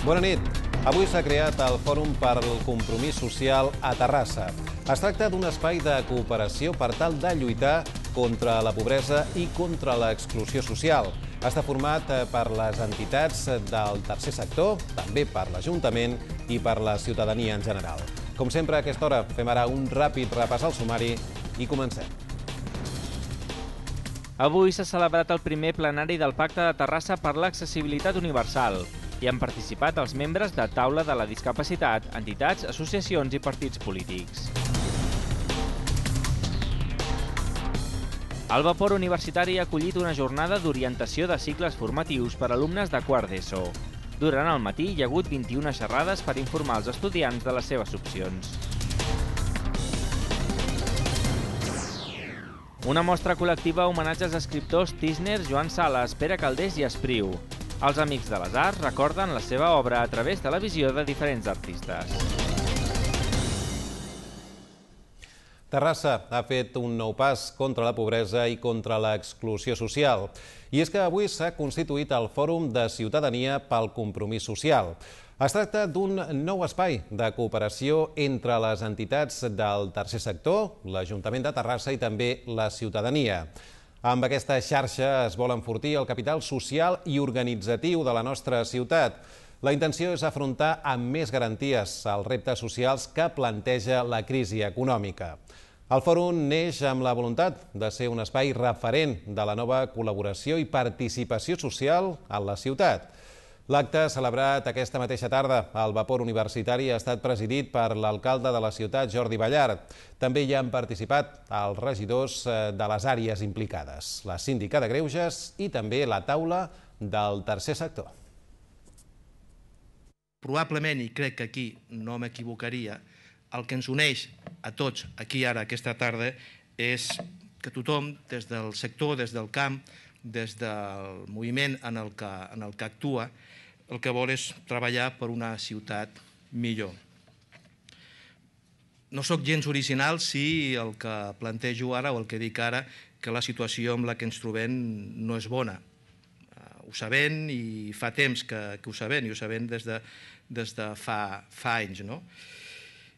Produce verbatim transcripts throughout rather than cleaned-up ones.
Bona nit. Avui s'ha creat el Fòrum per al Compromís Social a Terrassa. Es tracta d'un espai de cooperació per tal de lluitar contra la pobresa i contra l'exclusió social. Està format per les entitats del tercer sector, també per l'Ajuntament i per la ciutadania en general. Com sempre, a aquesta hora fem ara un ràpid repàs al sumari i comencem. Avui s'ha celebrat el primer plenari del Pacte de Terrassa per l'Accessibilitat Universal. Hi han participat els membres de Taula de la Discapacitat, entitats, associacions i partits polítics. El Vapor Universitari ha acollit una jornada d'orientació de cicles formatius per a alumnes de quart d'ESO. Durant el matí hi ha hagut vint-i-una xerrades per informar els estudiants de les seves opcions. Una mostra col·lectiva a homenatge als escriptors Tísner, Joan Sales, Pere Calders i Espriu. Els Amics de les Arts recorden la seva obra a través de la visió de diferents artistes. Terrassa ha fet un nou pas contra la pobresa i contra l'exclusió social. I és que avui s'ha constituït el Fòrum de Ciutadania pel Compromís Social. Es tracta d'un nou espai de cooperació entre les entitats del tercer sector, l'Ajuntament de Terrassa i també la ciutadania. Amb aquesta xarxa es vol enfortir el capital social i organitzatiu de la nostra ciutat. La intenció és afrontar amb més garanties els reptes socials que planteja la crisi econòmica. El fòrum neix amb la voluntat de ser un espai referent de la nova col·laboració i participació social en la ciutat. L'acte celebrat aquesta mateixa tarda al Vapor Universitari ha estat presidit per l'alcalde de la ciutat, Jordi Ballart. També hi han participat els regidors de les àrees implicades, la síndica de Greuges i també la taula del tercer sector. Probablement, i crec que aquí no m'equivocaria, el que ens uneix a tots aquí ara aquesta tarda és que tothom, des del sector, des del camp, des del moviment en el que, en el que actua, el que vol és treballar per una ciutat millor. No sóc gens original si el que plantejo ara o el que dic ara que la situació amb la que ens trobem no és bona. Ho sabem i fa temps que, que ho sabem, i ho sabem des de, des de fa, fa anys, no?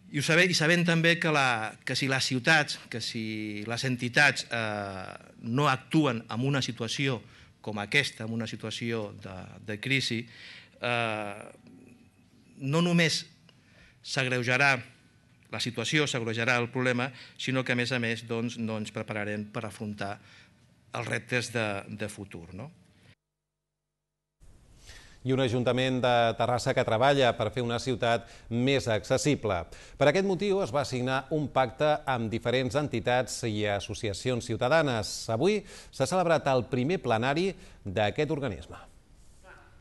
I ho sabem, i sabem també que, la, que si les ciutats, que si les entitats eh, no actuen en una situació com aquesta, en una situació de, de crisi, eh, no només s'agreujarà la situació, s'agreujarà el problema, sinó que a més a més doncs, no ens prepararem per afrontar els reptes de, de futur, no? I un Ajuntament de Terrassa que treballa per fer una ciutat més accessible. Per aquest motiu es va signar un pacte amb diferents entitats i associacions ciutadanes. Avui s'ha celebrat el primer plenari d'aquest organisme.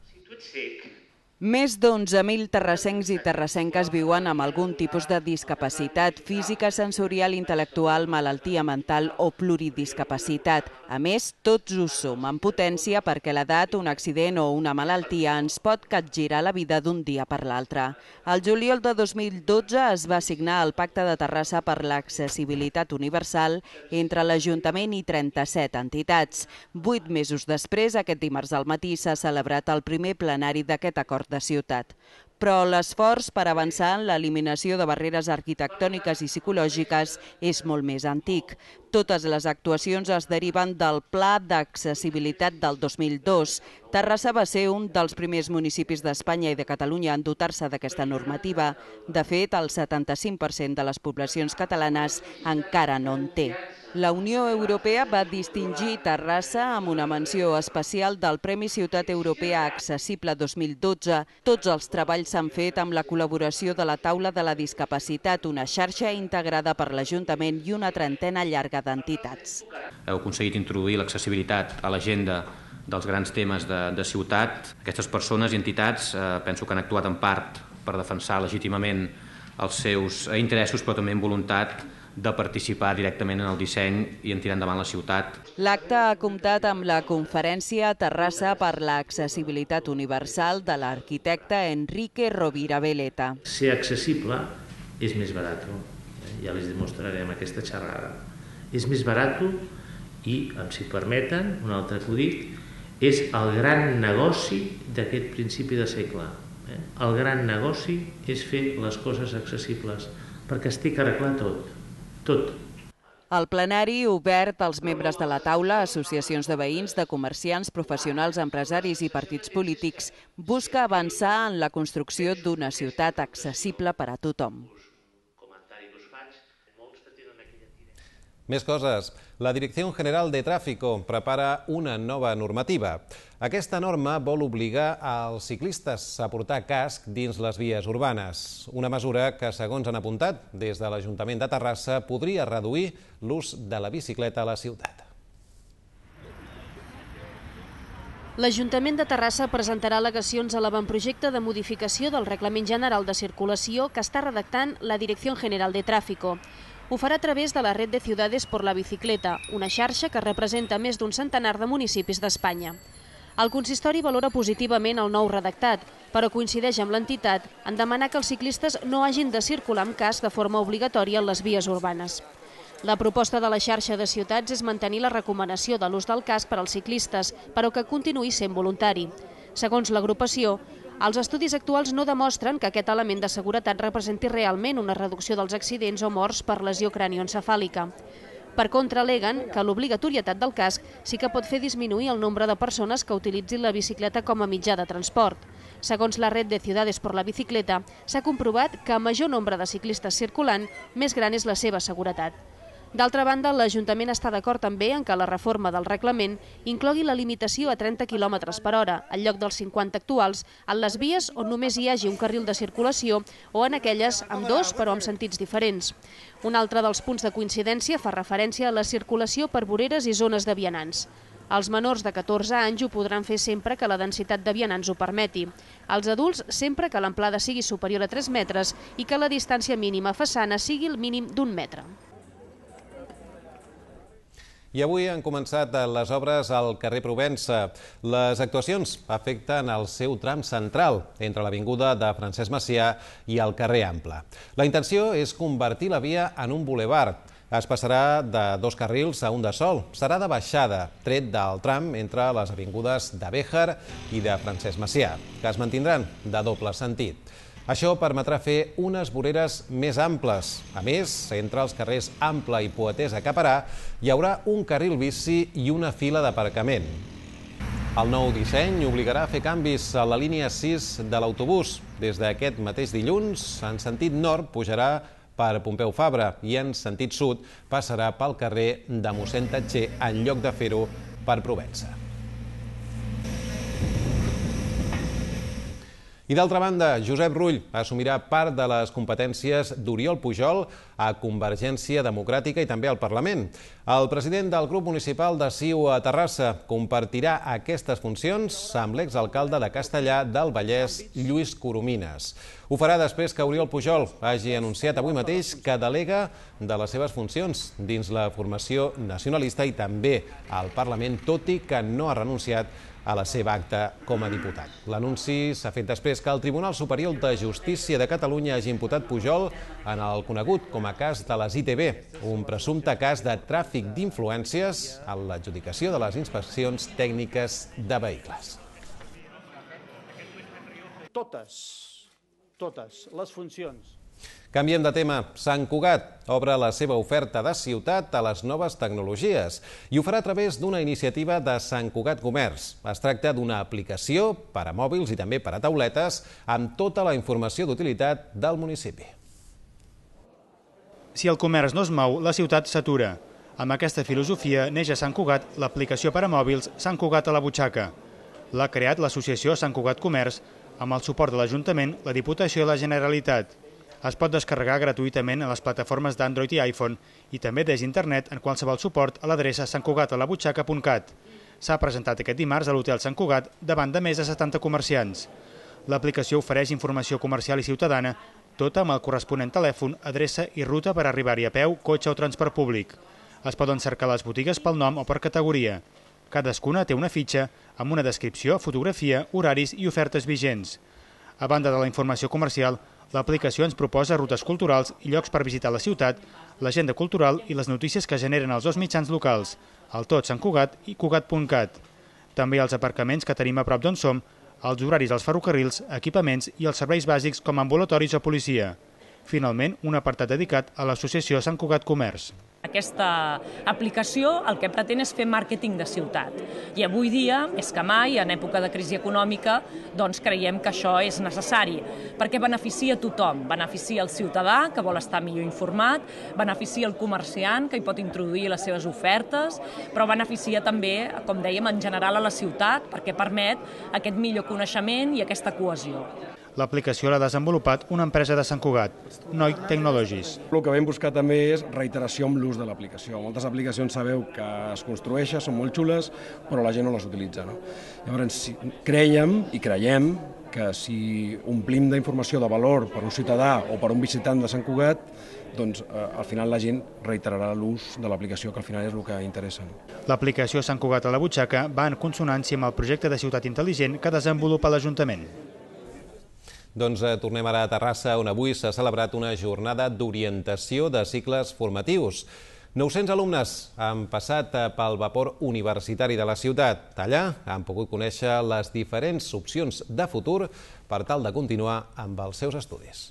Si tu ets cec... Més d'onze mil terrassencs i terrassenques viuen amb algun tipus de discapacitat física, sensorial, intel·lectual, malaltia mental o pluridiscapacitat. A més, tots ho som en potència perquè l'edat, un accident o una malaltia ens pot capgirar la vida d'un dia per l'altre. El juliol de dos mil dotze es va signar el Pacte de Terrassa per l'Accessibilitat Universal entre l'Ajuntament i trenta-set entitats. Vuit mesos després, aquest dimarts al matí, s'ha celebrat el primer plenari d'aquest acord de ciutat. Però l'esforç per avançar en l'eliminació de barreres arquitectòniques i psicològiques és molt més antic. Totes les actuacions es deriven del Pla d'Accessibilitat del dos mil dos. Terrassa va ser un dels primers municipis d'Espanya i de Catalunya en dotar-se d'aquesta normativa. De fet, el setanta-cinc per cent de les poblacions catalanes encara no en té. La Unió Europea va distingir Terrassa amb una menció especial del Premi Ciutat Europea Accessible dos mil dotze. Tots els treballs s'han fet amb la col·laboració de la Taula de la Discapacitat, una xarxa integrada per l'Ajuntament i una trentena llarga d'entitats. Heu aconseguit introduir l'accessibilitat a l'agenda dels grans temes de, de ciutat. Aquestes persones i entitats eh, penso que han actuat en part per defensar legítimament els seus interessos, però també en voluntat de participar directament en el disseny i en tirar endavant la ciutat. L'acte ha comptat amb la conferència Terrassa per l'Accessibilitat Universal de l'arquitecte Enrique Rovira Veleta. Ser accessible és més barat, ja les demostrarem aquesta xerrada. És més barat i, si permeten, un altre acudit, és el gran negoci d'aquest principi de segle. El gran negoci és fer les coses accessibles, perquè estic arreglat tot, tot. El plenari, obert als membres de la taula, associacions de veïns, de comerciants, professionals, empresaris i partits polítics, busca avançar en la construcció d'una ciutat accessible per a tothom. Més coses. La Direcció General de Tráfico prepara una nova normativa. Aquesta norma vol obligar als ciclistes a portar casc dins les vies urbanes. Una mesura que, segons han apuntat des de l'Ajuntament de Terrassa, podria reduir l'ús de la bicicleta a la ciutat. L'Ajuntament de Terrassa presentarà al·legacions a l'avantprojecte de modificació del Reglament General de Circulació que està redactant la Direcció General de Tráfico. Ho farà a través de la Red de Ciudades por la Bicicleta, una xarxa que representa més d'un centenar de municipis d'Espanya. El consistori valora positivament el nou redactat, però coincideix amb l'entitat en demanar que els ciclistes no hagin de circular amb casc de forma obligatòria en les vies urbanes. La proposta de la xarxa de ciutats és mantenir la recomanació de l'ús del casc per als ciclistes, però que continuï sent voluntari. Segons l'agrupació, els estudis actuals no demostren que aquest element de seguretat representi realment una reducció dels accidents o morts per lesió cranioencefàlica. Per contra, aleguen que l'obligatorietat del casc sí que pot fer disminuir el nombre de persones que utilitzin la bicicleta com a mitjà de transport. Segons la Red de Ciudades por la Bicicleta, s'ha comprovat que a major nombre de ciclistes circulant, més gran és la seva seguretat. D'altra banda, l'Ajuntament està d'acord també en que la reforma del reglament inclogui la limitació a trenta quilòmetres per hora, en lloc dels cinquanta actuals, en les vies on només hi hagi un carril de circulació o en aquelles amb dos però amb sentits diferents. Un altre dels punts de coincidència fa referència a la circulació per voreres i zones de vianants. Els menors de catorze anys ho podran fer sempre que la densitat de vianants ho permeti. Els adults sempre que l'amplada sigui superior a tres metres i que la distància mínima façana sigui el mínim d'un metre. I avui han començat les obres al carrer Provença. Les actuacions afecten el seu tram central, entre l'avinguda de Francesc Macià i el carrer Ample. La intenció és convertir la via en un bulevard. Es passarà de dos carrils a un de sol. Serà de baixada, tret del tram entre les avingudes de Béjar i de Francesc Macià, que es mantindran de doble sentit. Això permetrà fer unes voreres més amples. A més, entre els carrers Ample i Poetès a Caparà hi haurà un carril bici i una fila d'aparcament. El nou disseny obligarà a fer canvis a la línia sis de l'autobús. Des d'aquest mateix dilluns, en sentit nord pujarà per Pompeu Fabra i en sentit sud passarà pel carrer de Mossèn Tatxer en lloc de fer-ho per Provença. I d'altra banda, Josep Rull assumirà part de les competències d'Oriol Pujol a Convergència Democràtica i també al Parlament. El president del grup municipal de C I U a Terrassa compartirà aquestes funcions amb l'exalcalde de Castellar del Vallès, Lluís Coromines. Ho farà després que Oriol Pujol hagi anunciat avui mateix que delega de les seves funcions dins la formació nacionalista i també al Parlament, tot i que no ha renunciat a la seva acta com a diputat. L'anunci s'ha fet després que el Tribunal Superior de Justícia de Catalunya hagi imputat Pujol en el conegut com a cas de les I T B, un presumpte cas de tràfic d'influències en l'adjudicació de les inspeccions tècniques de vehicles. Totes, totes les funcions. Canviem de tema. Sant Cugat obre la seva oferta de ciutat a les noves tecnologies i ho farà a través d'una iniciativa de Sant Cugat Comerç. Es tracta d'una aplicació per a mòbils i també per a tauletes amb tota la informació d'utilitat del municipi. Si el comerç no es mou, la ciutat s'atura. Amb aquesta filosofia neix a Sant Cugat l'aplicació per a mòbils Sant Cugat a la butxaca. L'ha creat l'associació Sant Cugat Comerç amb el suport de l'Ajuntament, la Diputació i la Generalitat. Es pot descarregar gratuïtament a les plataformes d'Android i iPhone i també des d'internet en qualsevol suport a l'adreça sant cugat a la butxaca punt cat. S'ha presentat aquest dimarts a l'Hotel Sant Cugat davant de més de setanta comerciants. L'aplicació ofereix informació comercial i ciutadana, tota amb el corresponent telèfon, adreça i ruta per arribar-hi a peu, cotxe o transport públic. Es poden cercar les botigues pel nom o per categoria. Cadascuna té una fitxa amb una descripció, fotografia, horaris i ofertes vigents. A banda de la informació comercial, l'aplicació ens proposa rutes culturals i llocs per visitar la ciutat, l'agenda cultural i les notícies que generen els dos mitjans locals, el Tot Sant Cugat i Cugat punt cat. També els aparcaments que tenim a prop d'on som, els horaris dels ferrocarrils, equipaments i els serveis bàsics com ambulatoris o policia. Finalment, un apartat dedicat a l'associació Sant Cugat Comerç. Aquesta aplicació el que pretén és fer màrqueting de ciutat. I avui dia, més que mai, en època de crisi econòmica, doncs creiem que això és necessari, perquè beneficia tothom. Beneficia el ciutadà, que vol estar millor informat, beneficia el comerciant, que hi pot introduir les seves ofertes, però beneficia també, com dèiem, en general a la ciutat, perquè permet aquest millor coneixement i aquesta cohesió. L'aplicació l'ha desenvolupat una empresa de Sant Cugat, Noi Technologies. El que vam buscar també és reiteració amb l'ús de l'aplicació. Moltes aplicacions sabeu que es construeixen, són molt xules, però la gent no les utilitza. No? Llavors, creiem i creiem que si omplim d'informació de valor per un ciutadà o per un visitant de Sant Cugat, doncs eh, al final la gent reiterarà l'ús de l'aplicació, que al final és el que interessa. L'aplicació Sant Cugat a la butxaca va en consonància amb el projecte de ciutat intel·ligent que desenvolupa l'Ajuntament. Doncs eh, tornem ara a Terrassa, on avui s'ha celebrat una jornada d'orientació de cicles formatius. nou-cents alumnes han passat pel vapor universitari de la ciutat. Allà han pogut conèixer les diferents opcions de futur per tal de continuar amb els seus estudis.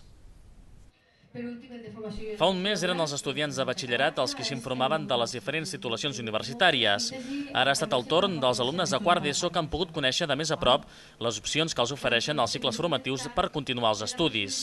Fa un mes eren els estudiants de batxillerat els que s'informaven de les diferents titulacions universitàries. Ara ha estat el torn dels alumnes de quart d'ESO que han pogut conèixer de més a prop les opcions que els ofereixen els cicles formatius per continuar els estudis.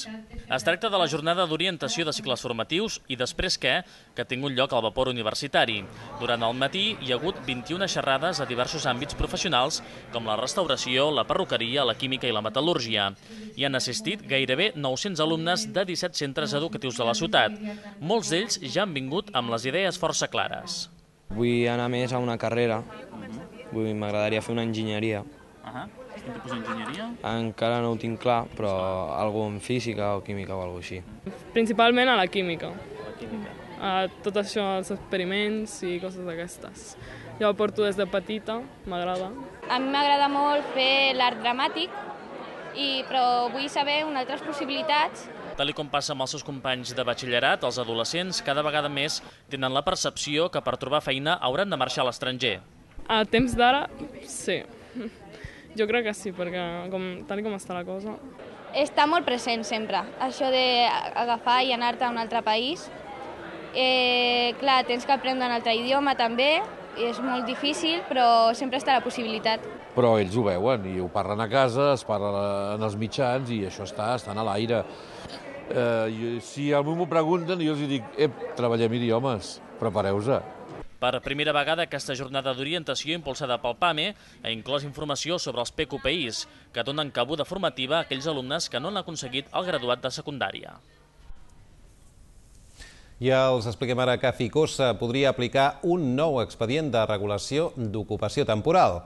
Es tracta de la jornada d'orientació de cicles formatius i després què, que ha tingut lloc al vapor universitari. Durant el matí hi ha hagut vint-i-una xerrades a diversos àmbits professionals com la restauració, la perruqueria, la química i la metal·lúrgia. Hi han assistit gairebé nou-cents alumnes de disset centres educatius de la ciutat. Molts d'ells ja han vingut amb les idees força clares. Vull anar més a una carrera. M'agradaria fer una enginyeria. Quin tipus d'enginyeria? Encara no ho tinc clar, però alguna en física o química o alguna així. Principalment a la química. A tot això, els experiments i coses d'aquestes. Jo ho porto des de petita, m'agrada. A mi m'agrada molt fer l'art dramàtic, però vull saber unes altres possibilitats. Tal com passa amb els seus companys de batxillerat, els adolescents cada vegada més tenen la percepció que per trobar feina hauran de marxar a l'estranger. A temps d'ara, sí. Jo crec que sí, perquè com, tal com està la cosa... Està molt present sempre, això d'agafar i anar-te a un altre país. Eh, clar, tens que aprendre un altre idioma també, i és molt difícil, però sempre està la possibilitat. Però ells ho veuen i ho parlen a casa, es parla en els mitjans i això està, estan a l'aire. Eh, si a mi m'ho pregunten, jo els dic, ep, treballem idiomes, prepareu-se. Per primera vegada, aquesta jornada d'orientació impulsada pel PAME ha inclòs informació sobre els P Q P Is, que donen cabuda formativa a aquells alumnes que no han aconseguit el graduat de secundària. Ja els expliquem ara que Ficosa podria aplicar un nou expedient de regulació d'ocupació temporal.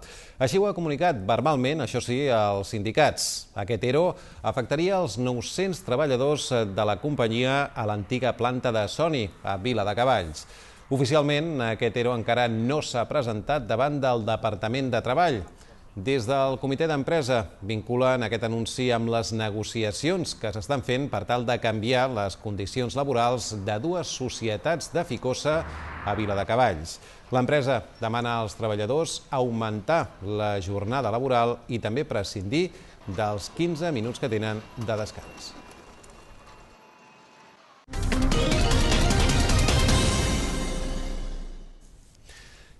Així ho ha comunicat verbalment, això sí, als sindicats. Aquest E R O afectaria els nou-cents treballadors de la companyia a l'antiga planta de Sony, a Viladecavalls. Oficialment, aquest E R O encara no s'ha presentat davant del Departament de Treball. Des del comitè d'empresa vinculen aquest anunci amb les negociacions que s'estan fent per tal de canviar les condicions laborals de dues societats de Ficosa a Viladecavalls. L'empresa demana als treballadors augmentar la jornada laboral i també prescindir dels quinze minuts que tenen de descans.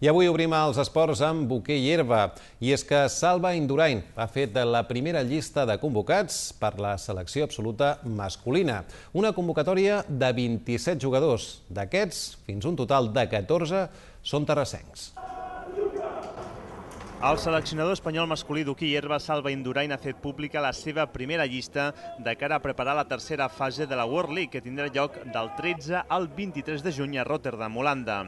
I avui obrim els esports amb hoquei i herba. I és que Salva Indurain ha fet la primera llista de convocats per la selecció absoluta masculina. Una convocatòria de vint-i-set jugadors. D'aquests, fins un total de catorze són terrassencs. El seleccionador espanyol masculí d'hoquei i herba, Salva Indurain, ha fet pública la seva primera llista de cara a preparar la tercera fase de la World League, que tindrà lloc del tretze al vint-i-tres de juny a Rotterdam, Holanda.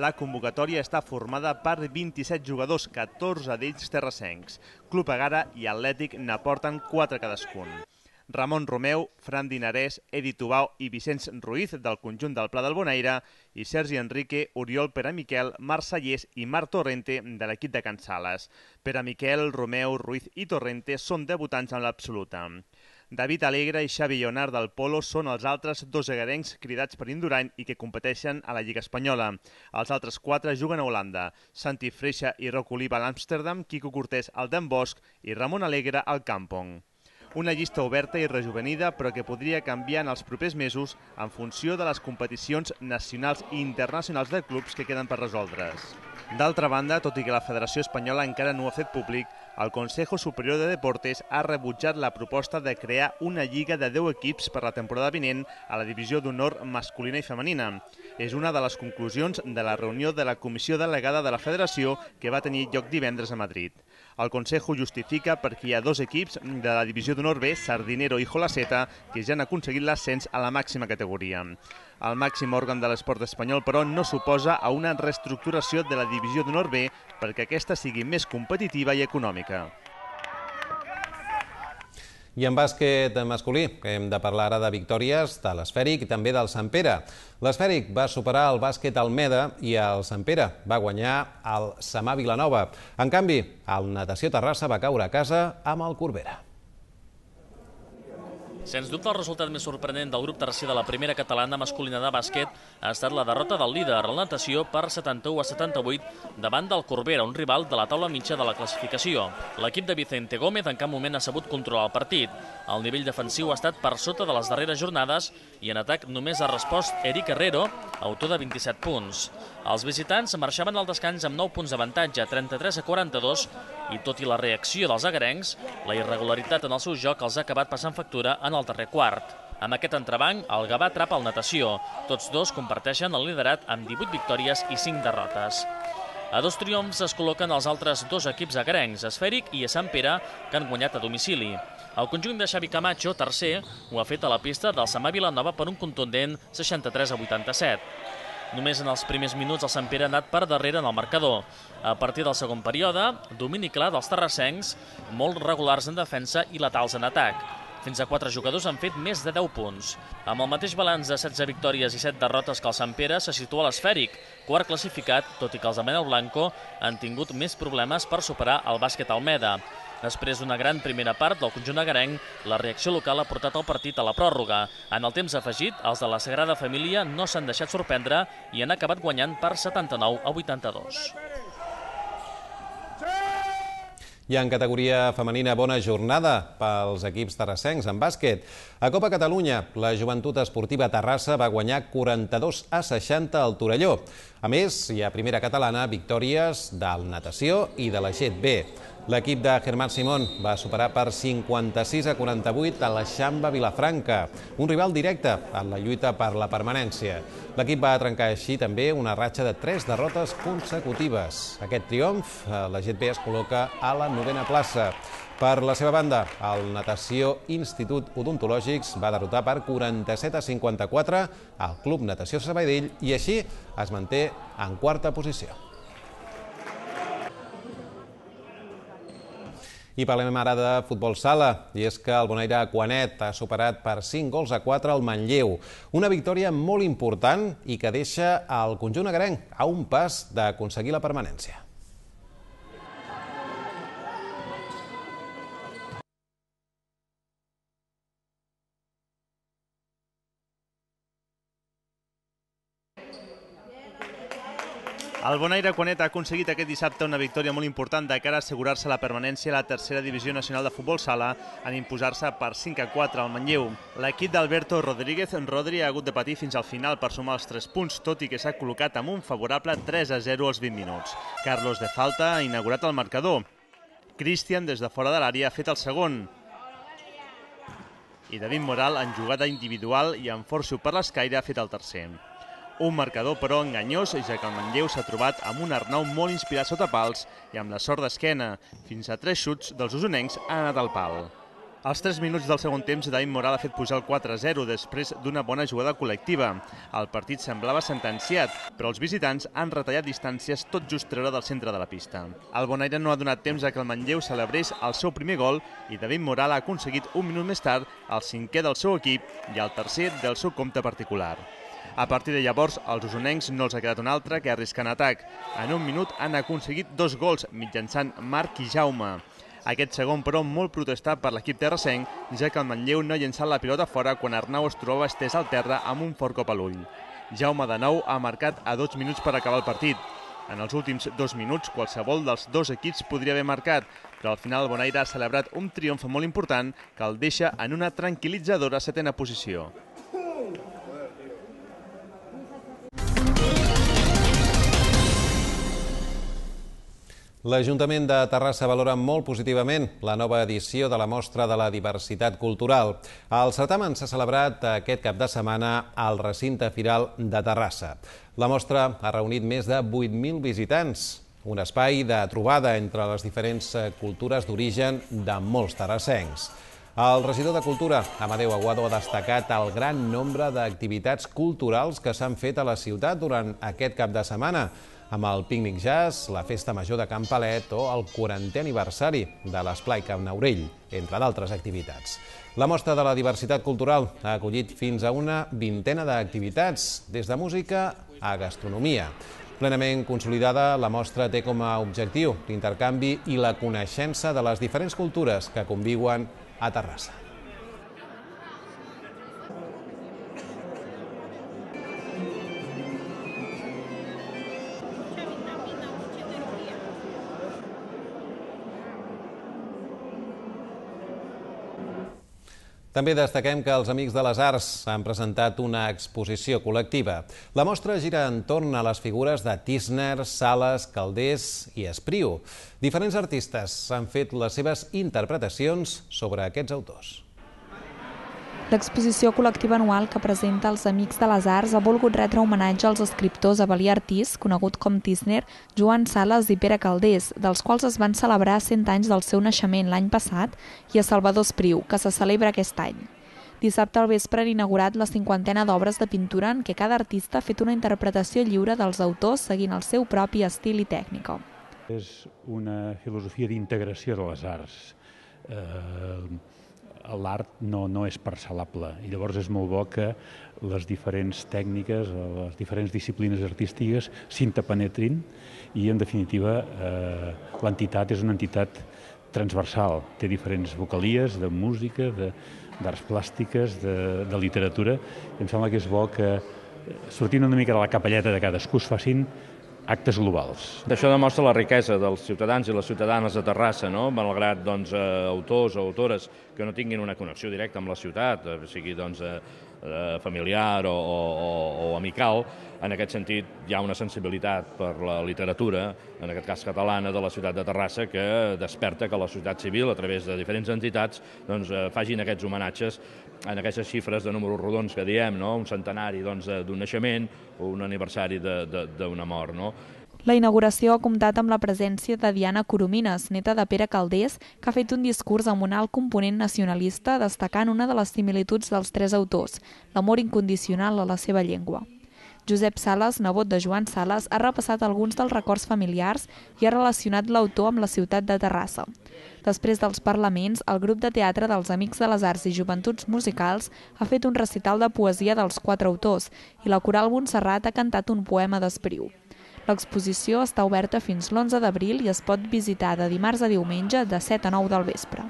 La convocatòria està formada per vint-i-set jugadors, catorze d'ells terrassencs. Club Egara i Atlètic n'aporten quatre cadascun. Ramon Romeu, Fran Dinarès, Edi Tubau i Vicenç Ruiz del conjunt del Pla del Bonaire i Sergi Enrique, Oriol Peramiquel, Marc Sallés i Marc Torrente de l'equip de Can Sales. Peramiquel, Romeu, Ruiz i Torrente són debutants en l'absoluta. David Alegre i Xavi Lleonard del Polo són els altres dos egarencs cridats per Indurain i que competeixen a la Lliga Espanyola. Els altres quatre juguen a Holanda: Santi Freixa i Roc Oliva a l'Amsterdam, Quico Cortés al Den Bosch i Ramon Alegre al Kampong. Una llista oberta i rejuvenida, però que podria canviar en els propers mesos en funció de les competicions nacionals i internacionals de clubs que queden per resoldre's. D'altra banda, tot i que la Federació Espanyola encara no ho ha fet públic, el Consejo Superior de Deportes ha rebutjat la proposta de crear una lliga de deu equips per la temporada vinent a la divisió d'honor masculina i femenina. És una de les conclusions de la reunió de la Comissió Delegada de la Federació que va tenir lloc divendres a Madrid. El Consejo justifica perquè hi ha dos equips de la divisió d'honor B, Sardinero i Jolaceta, que ja han aconseguit l'ascens a la màxima categoria. El màxim òrgan de l'esport espanyol, però, no s'oposa a una reestructuració de la divisió d'honor B perquè aquesta sigui més competitiva i econòmica. I en bàsquet masculí hem de parlar ara de victòries de l'Esfèric i també del Sant Pere. L'Esfèric va superar el bàsquet Almeda i el Sant Pere va guanyar el Samà Vilanova. En canvi, el Natació Terrassa va caure a casa amb el Corbera. Sens dubte, el resultat més sorprenent del grup tercer de la primera catalana masculina de bàsquet ha estat la derrota del líder, la natació, per setanta-u a setanta-vuit davant del Corbera, un rival de la taula mitja de la classificació. L'equip de Vicente Gómez en cap moment ha sabut controlar el partit. El nivell defensiu ha estat per sota de les darreres jornades i en atac només ha respost Eric Herrero, autor de vint-i-set punts. Els visitants marxaven al descans amb nou punts d'avantatge, trenta-tres a quaranta-dos, i tot i la reacció dels agarencs, la irregularitat en el seu joc els ha acabat passant factura en el darrer quart. Amb aquest entrebanc, el Gavà atrapa el Natació. Tots dos comparteixen el liderat amb divuit victòries i cinc derrotes. A dos triomfs es col·loquen els altres dos equips agarencs, Esfèric i Sant Pere, que han guanyat a domicili. El conjunt de Xavi Camacho, tercer, ho ha fet a la pista del Samà Vilanova per un contundent seixanta-tres a vuitanta-set. Només en els primers minuts el Sant Pere ha anat per darrere en el marcador. A partir del segon període, domini clar dels terrassencs, molt regulars en defensa i letals en atac. Fins a quatre jugadors han fet més de deu punts. Amb el mateix balanç de setze victòries i set derrotes que el Sant Pere, se situa a l'Esfèric, quart classificat, tot i que els de Manel Blanco han tingut més problemes per superar el bàsquet Almeda. Després d'una gran primera part del conjunt agarenc, la reacció local ha portat el partit a la pròrroga. En el temps afegit, els de la Sagrada Família no s'han deixat sorprendre i han acabat guanyant per setanta-nou a vuitanta-dos. I en categoria femenina, bona jornada pels equips terrassencs en bàsquet. A Copa Catalunya, la Joventut Esportiva Terrassa va guanyar quaranta-dos a seixanta al Torelló. A més, hi ha primera catalana victòries del Natació i de la G E T B. L'equip de Germán Simón va superar per cinquanta-sis a quaranta-vuit a la Xamba Vilafranca, un rival directe en la lluita per la permanència. L'equip va trencar així també una ratxa de tres derrotes consecutives. Aquest triomf, la G E T B es col·loca a la novena plaça. Per la seva banda, el Natació Institut Odontològics va derrotar per quaranta-set a cinquanta-quatre al Club Natació Sabadell i així es manté en quarta posició. I parlem ara de futbol sala, i és que el Bonaire Aquanet ha superat per cinc gols a quatre al Manlleu. Una victòria molt important i que deixa el conjunt agarenc a un pas d'aconseguir la permanència. El Bonaire Aquanet ha aconseguit aquest dissabte una victòria molt important de cara a assegurar-se la permanència a la tercera divisió nacional de futbol sala en imposar-se per cinc a quatre al Manlleu. L'equip d'Alberto Rodríguez Rodri ha hagut de patir fins al final per sumar els tres punts, tot i que s'ha col·locat amb un favorable tres a zero als vint minuts. Carlos de Falta ha inaugurat el marcador. Cristian, des de fora de l'àrea, ha fet el segon. I David Moral, en jugada individual i en forço per l'escaire, ha fet el tercer. Un marcador, però, enganyós, ja que el Manlleu s'ha trobat amb un Arnau molt inspirat sota pals i amb la sort d'esquena. Fins a tres xuts dels usonencs han anat al pal. Als tres minuts del segon temps, David Moral ha fet pujar el quatre a zero després d'una bona jugada col·lectiva. El partit semblava sentenciat, però els visitants han retallat distàncies tot just treure del centre de la pista. El Bonaire no ha donat temps a que el Manlleu celebrés el seu primer gol i David Moral ha aconseguit un minut més tard el cinquè del seu equip i el tercer del seu compte particular. A partir de llavors, als usonencs no els ha quedat un altre que arriscar en atac. En un minut han aconseguit dos gols mitjançant Marc i Jaume. Aquest segon, però, molt protestat per l'equip terrassenc, ja que el Manlleu no ha llençat la pilota fora quan Arnau es trobava estès al terra amb un fort cop a l'ull. Jaume de nou ha marcat a dos minuts per acabar el partit. En els últims dos minuts, qualsevol dels dos equips podria haver marcat, però al final el Bonaire ha celebrat un triomf molt important que el deixa en una tranquil·litzadora setena posició. L'Ajuntament de Terrassa valora molt positivament la nova edició de la Mostra de la Diversitat Cultural. El certamen s'ha celebrat aquest cap de setmana al recinte firal de Terrassa. La mostra ha reunit més de vuit mil visitants, un espai de trobada entre les diferents cultures d'origen de molts terrassencs. El regidor de Cultura, Amadeu Aguado, ha destacat el gran nombre d'activitats culturals que s'han fet a la ciutat durant aquest cap de setmana, amb el pícnic jazz, la festa major de Can Palet o el quarantè aniversari de l'Esplai Can Naurell, entre d'altres activitats. La Mostra de la Diversitat Cultural ha acollit fins a una vintena d'activitats, des de música a gastronomia. Plenament consolidada, la mostra té com a objectiu l'intercanvi i la coneixença de les diferents cultures que conviuen a Terrassa. També destaquem que els Amics de les Arts han presentat una exposició col·lectiva. La mostra gira entorn a les figures de Tísner, Sales, Calders i Espriu. Diferents artistes han fet les seves interpretacions sobre aquests autors. L'exposició col·lectiva anual que presenta els Amics de les Arts ha volgut retre homenatge als escriptors Avel·lí Artís, conegut com Tísner, Joan Sales i Pere Calders, dels quals es van celebrar cent anys del seu naixement l'any passat, i a Salvador Espriu, que se celebra aquest any. Dissabte al vespre han inaugurat la cinquantena d'obres de pintura en què cada artista ha fet una interpretació lliure dels autors seguint el seu propi estil i tècnica. És una filosofia d'integració de les arts. Eh... L'art no, no és parcel·lable i llavors és molt bo que les diferents tècniques, les diferents disciplines artístiques s'interpenetrin i, en definitiva, eh, l'entitat és una entitat transversal. Té diferents vocalies de música, d'arts plàstiques, de, de literatura. I em sembla que és bo que, sortint una mica de la capelleta de cadascú, es facin actes globals. Això demostra la riquesa dels ciutadans i les ciutadanes de Terrassa, no? Malgrat doncs, eh, autors o autores que no tinguin una connexió directa amb la ciutat, eh, sigui doncs, eh, familiar o, o, o amical, en aquest sentit hi ha una sensibilitat per la literatura, en aquest cas catalana, de la ciutat de Terrassa, que desperta que la societat civil, a través de diferents entitats, doncs, eh, facin aquests homenatges en aquestes xifres de números rodons que diem, no? Un centenari d'un doncs, naixement o un aniversari d'una mort. No? La inauguració ha comptat amb la presència de Diana Coromines, neta de Pere Calders, que ha fet un discurs amb un alt component nacionalista, destacant una de les similituds dels tres autors, l'amor incondicional a la seva llengua. Josep Sales, nebot de Joan Sales, ha repassat alguns dels records familiars i ha relacionat l'autor amb la ciutat de Terrassa. Després dels parlaments, el grup de teatre dels Amics de les Arts i Joventuts Musicals ha fet un recital de poesia dels quatre autors i la Coral Montserrat ha cantat un poema d'Espriu. L'exposició està oberta fins l'onze d'abril i es pot visitar de dimarts a diumenge de set a nou del vespre.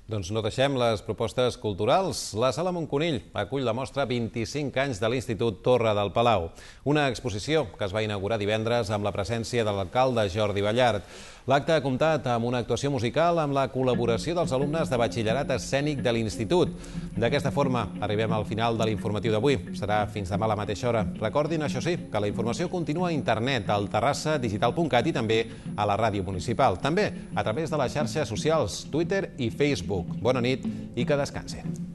Doncs no deixem les propostes culturals. La Sala Montconill acull la mostra vint-i-cinc anys de l'Institut Torre del Palau. Una exposició que es va inaugurar divendres amb la presència de l'alcalde Jordi Ballart. L'acte ha comptat amb una actuació musical amb la col·laboració dels alumnes de batxillerat escènic de l'Institut. D'aquesta forma, arribem al final de l'informatiu d'avui. Serà fins demà a la mateixa hora. Recordin, això sí, que la informació continua a internet, al terrassa digital punt cat i també a la ràdio municipal. També a través de les xarxes socials, Twitter i Facebook. Bona nit i que descansin.